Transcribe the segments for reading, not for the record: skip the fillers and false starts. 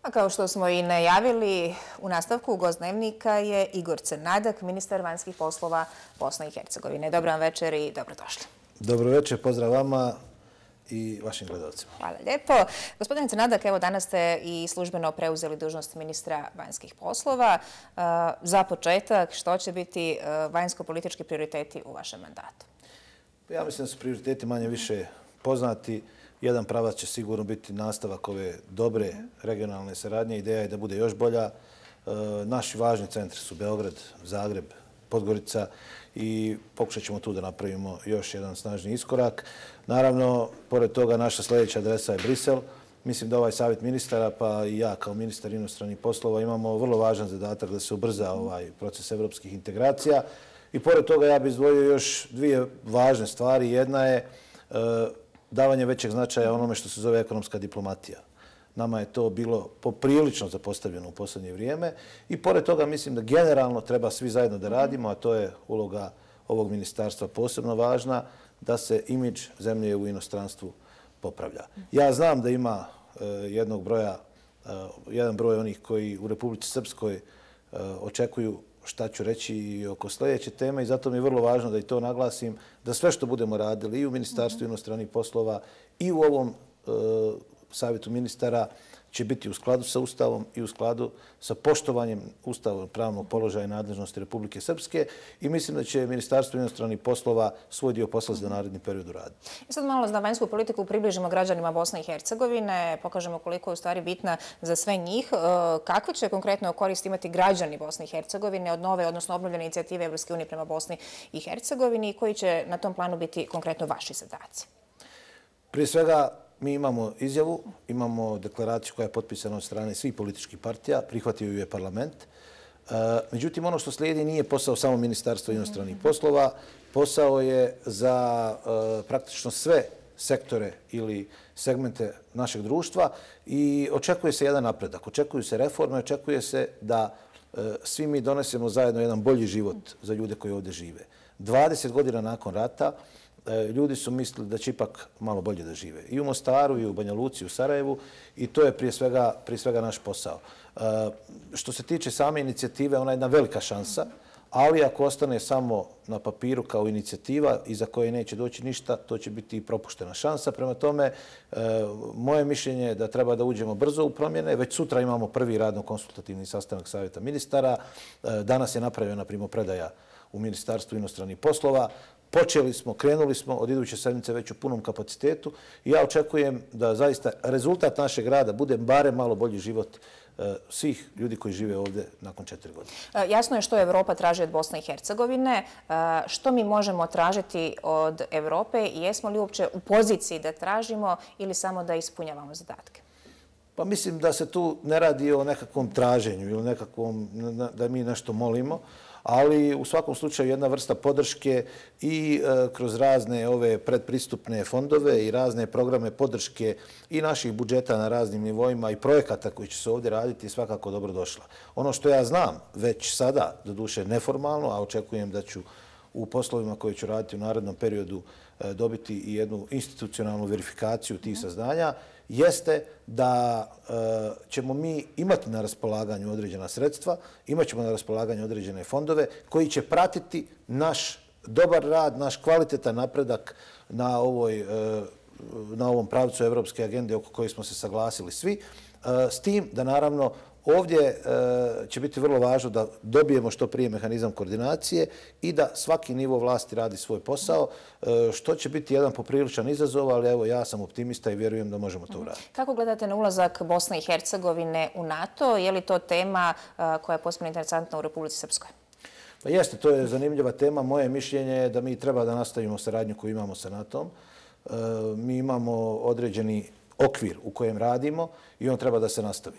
A kao što smo i najavili, u nastavku gost Dnevnika je Igor Crnadak, ministar vanjskih poslova Bosne i Hercegovine. Dobar vam večer i dobrodošli. Dobro večer, pozdrav vama i vašim gledalcima. Hvala lijepo. Gospodine Crnadak, evo danas ste i službeno preuzeli dužnost ministra vanjskih poslova. Za početak, što će biti vanjsko-politički prioriteti u vašem mandatu? Ja mislim da su prioriteti manje više poznati. Jedan pravac će sigurno biti nastavak ove dobre regionalne saradnje. Ideja je da bude još bolja. Naši važni centri su Beograd, Zagreb, Podgorica i pokušat ćemo tu da napravimo još jedan snažni iskorak. Naravno, pored toga naša sljedeća adresa je Brisel. Mislim da ovaj savjet ministara, pa i ja kao ministar inostranih poslova imamo vrlo važan zadatak da se ubrza ovaj proces evropskih integracija. I pored toga ja bih izdvojio još dvije važne stvari. Jedna je davanje većeg značaja onome što se zove ekonomska diplomatija. Nama je to bilo poprilično zapostavljeno u posljednje vrijeme i pored toga mislim da generalno treba svi zajedno da radimo, a to je uloga ovog ministarstva posebno važna, da se imidž zemlje u inostranstvu popravlja. Ja znam da ima jedan broj onih koji u Republici Srpskoj očekuju šta ću reći i oko sljedeće teme i zato mi je vrlo važno da i to naglasim, da sve što budemo radili i u Ministarstvu inostranih poslova i u ovom savjetu ministara će biti u skladu sa Ustavom i u skladu sa poštovanjem Ustava pravnog položaja i nadležnosti Republike Srpske i mislim da će Ministarstvo inostranih poslova svoj dio posla za naredni period uraditi. I sad malo za vanjsku politiku približimo građanima Bosne i Hercegovine, pokažemo koliko je u stvari bitna za sve njih. Kakve će konkretno korist imati građani Bosne i Hercegovine od nove, odnosno obnovljene inicijative Evropske unije prema Bosni i Hercegovini i koji će na tom planu biti konkretno vaši zadaci? Prije svega, mi imamo izjavu, imamo deklaraciju koja je potpisana od strane svih političkih partija, prihvatio ju je parlament. Međutim, ono što slijedi nije posao samo Ministarstva inostranih poslova, posao je za praktično sve sektore ili segmente našeg društva i očekuje se jedan napredak, očekuju se reforme, očekuje se da svi mi donesemo zajedno jedan bolji život za ljude koji ovdje žive. 20 godina nakon rata ljudi su mislili da će ipak malo bolje da žive. I u Mostaru, i u Banja Luci, i u Sarajevu. I to je prije svega naš posao. Što se tiče same inicijative, ona je jedna velika šansa, ali ako ostane samo na papiru kao inicijativa iza koje neće doći ništa, to će biti i propuštena šansa. Prema tome, moje mišljenje je da treba da uđemo brzo u promjene. Već sutra imamo prvi radno-konsultativni sastanak savjeta ministara. Danas je napravljena primopredaja u Ministarstvu inostranih poslova. Počeli smo, krenuli smo od iduće sedmice već u punom kapacitetu i ja očekujem da zaista rezultat našeg rada bude barem malo bolji život svih ljudi koji žive ovdje nakon 4 godine. Jasno je što Evropa traži od Bosne i Hercegovine. Što mi možemo tražiti od Evrope i jesmo li uopće u poziciji da tražimo ili samo da ispunjavamo zadatke? Pa mislim da se tu ne radi o nekakvom traženju ili nekakvom da mi nešto molimo, ali u svakom slučaju jedna vrsta podrške i kroz razne ove predpristupne fondove i razne programe podrške i naših budžeta na raznim nivoima i projekata koji će se ovdje raditi je svakako dobro došla. Ono što ja znam već sada, doduše neformalno, a očekujem da ću u poslovima koje ću raditi u narednom periodu dobiti i jednu institucionalnu verifikaciju tih saznanja, jeste da ćemo mi imati na raspolaganju određena sredstva, imat ćemo na raspolaganju određene fondove koji će pratiti naš dobar rad, naš kvalitetan napredak na ovom pravcu evropske agende oko koje smo se saglasili svi, s tim da naravno ovdje će biti vrlo važno da dobijemo što prije mehanizam koordinacije i da svaki nivo vlasti radi svoj posao, što će biti jedan popriličan izazov, ali evo ja sam optimista i vjerujem da možemo to uraditi. Kako gledate na ulazak Bosne i Hercegovine u NATO? Je li to tema koja je posebno interesantna u Republici Srpskoj? Pa jeste, to je zanimljiva tema. Moje mišljenje je da mi treba da nastavimo saradnju koju imamo sa NATO-om. Mi imamo određeni okvir u kojem radimo i on treba da se nastavi.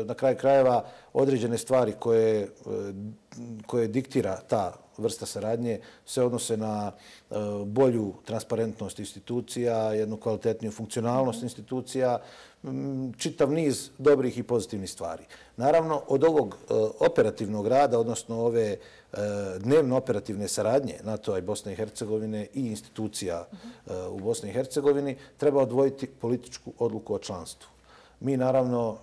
Na kraju krajeva određene stvari koje diktira ta vrsta saradnje se odnose na bolju transparentnost institucija, jednu kvalitetniju funkcionalnost institucija, čitav niz dobrih i pozitivnih stvari. Naravno, od ovog operativnog rada, odnosno ove dnevno operativne saradnje NATO-a i Bosne i Hercegovine i institucija u Bosni i Hercegovini, treba odvojiti političku odluku o članstvu. Mi naravno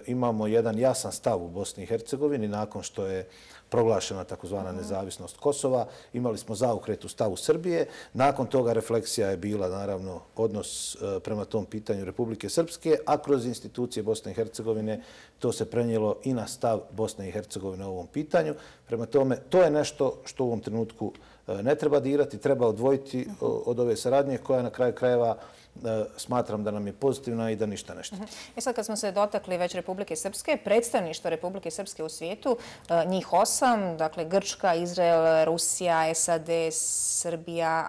imamo jedan jasan stav u Bosni i Hercegovini nakon što je proglašena takozvana nezavisnost Kosova. Imali smo zaokret u stavu Srbije. Nakon toga refleksija je bila naravno odnos prema tom pitanju Republike Srpske, a kroz institucije Bosne i Hercegovine to se prenijelo i na stav Bosne i Hercegovine o ovom pitanju. Prema tome, to je nešto što u ovom trenutku ne treba dirati, treba odvojiti od ove saradnje koja na kraju krajeva smatram da nam je pozitivna i da ništa ne šteti. Sad kad smo se dotakli već Republike Srpske, predstavništvo Republike Srpske u svijetu, njih 8, dakle Grčka, Izrael, Rusija, SAD, Srbija,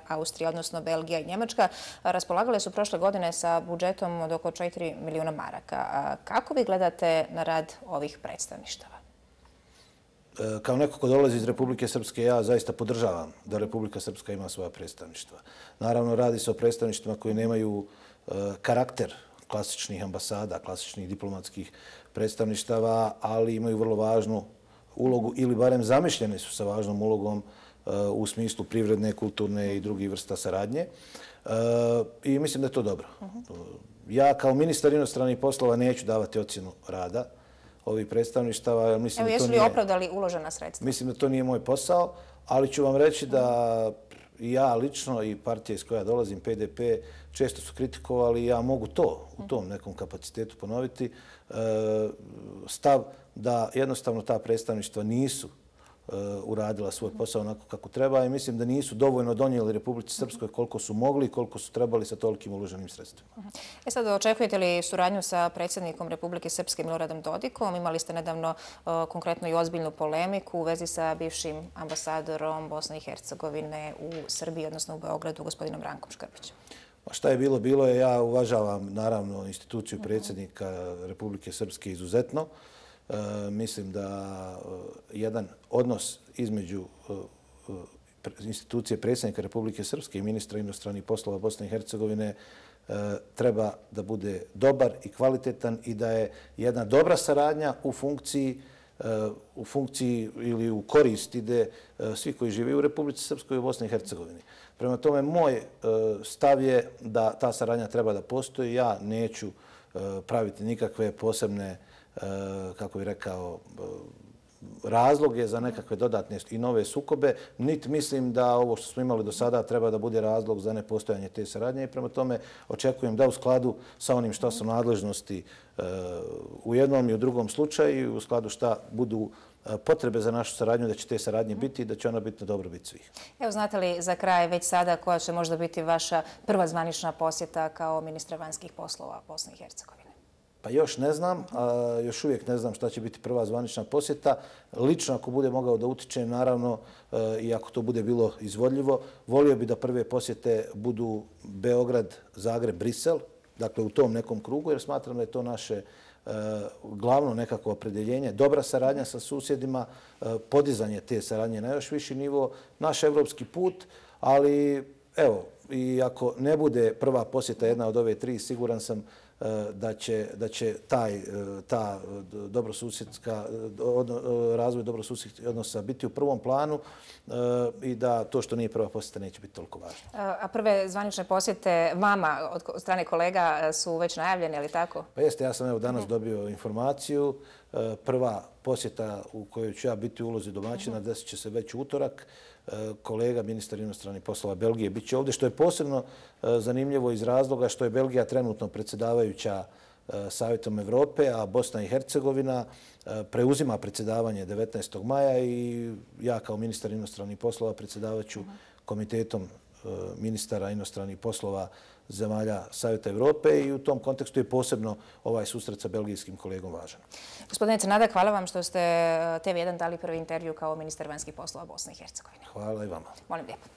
Austrija, odnosno Belgija i Njemačka, raspolagale su prošle godine sa budžetom od oko 4 milijuna maraka. Kako vi gledate na rad ovih predstavništava? Kao neko ko dolazi iz Republike Srpske, ja zaista podržavam da Republika Srpska ima svoja predstavništva. Naravno, radi se o predstavništvima koji nemaju karakter klasičnih ambasada, klasičnih diplomatskih predstavništava, ali imaju vrlo važnu ulogu ili barem zamišljeni su sa važnom ulogom u smislu privredne, kulturne i drugih vrsta saradnje. I mislim da je to dobro. Ja kao ministar inostranih poslova neću davati ocjenu rada ovih predstavništava. Evo, jesu li opravdali uložena sredstva? Mislim da to nije moj posao, ali ću vam reći da i ja lično i partija iz koja dolazim, PDP, često su kritikovali i ja mogu to u tom nekom kapacitetu ponoviti. Stav da jednostavno ta predstavništva nisu uradila svoj posao onako kako treba i mislim da nisu dovoljno donijeli Republici Srpskoj koliko su mogli i koliko su trebali sa tolikim uloženim sredstvima. Sad, očekujete li suradnju sa predsjednikom Republike Srpske Miloradom Dodikom? Imali ste nedavno konkretno i ozbiljnu polemiku u vezi sa bivšim ambasadorom Bosne i Hercegovine u Srbiji, odnosno u Beogradu, gospodinom Rankom Škrbićem. Šta je bilo, bilo je. Ja uvažavam naravno instituciju predsjednika Republike Srpske izuzetno. Mislim da jedan odnos između institucije predsjednika Republike Srpske i ministra inostranih poslova Bosne i Hercegovine treba da bude dobar i kvalitetan i da je jedna dobra saradnja u funkciji ili u korist ide svi koji žive u Republici Srpskoj i u Bosni i Hercegovini. Prema tome, moj stav je da ta saradnja treba da postoji. Ja neću praviti nikakve posebne, kako bih rekao, razloge za nekakve dodatne i nove sukobe. Niti mislim da ovo što smo imali do sada treba da bude razlog za nepostojanje te saradnje i prema tome očekujem da u skladu sa onim što su nadležnosti u jednom i u drugom slučaju i u skladu šta budu potrebe za našu saradnju, da će te saradnje biti i da će ona biti na dobrobit svih. Evo, znate li za kraj već sada koja će možda biti vaša prva zvanična posjeta kao ministra vanjskih poslova Bosne i Hercegovine? Pa još ne znam, još uvijek ne znam šta će biti prva zvanična posjeta. Lično, ako bude mogao da utičem, naravno, i ako to bude bilo izvodljivo, volio bi da prve posjete budu Beograd, Zagreb, Brisel, dakle u tom nekom krugu, jer smatram da je to naše glavno nekako opredjeljenje, dobra saradnja sa susjedima, podizanje te saradnje na još viši nivo, naš evropski put, ali evo, i ako ne bude prva posjeta jedna od ove tri, siguran sam da će ta razvoj dobrosusjedskih odnosa biti u prvom planu i da to što nije prva posjeta neće biti toliko važno. A prve zvanične posjete vama od strane kolega su već najavljene, ali tako? Pa jeste, ja sam evo danas dobio informaciju. Prva posjeta u kojoj ću ja biti u ulozi domaćina desit će se već u utorak. Kolega, ministar inostranih poslova Belgije, bit će ovdje, što je posebno zanimljivo iz razloga što je Belgija trenutno predsjedavajuća Savjetom Evrope, a Bosna i Hercegovina preuzima predsjedavanje 19. maja i ja kao ministar inostranih poslova predsjedavaću komitetom ministara inostranih poslova zemalja Savjeta Evrope i u tom kontekstu je posebno ovaj susret sa belgijskim kolegom važan. Gospodine Crnadak, hvala vam što ste TV1 dali prvi intervju kao ministar vanjskih poslova Bosne i Hercegovine. Hvala i vama. Molim lijepo.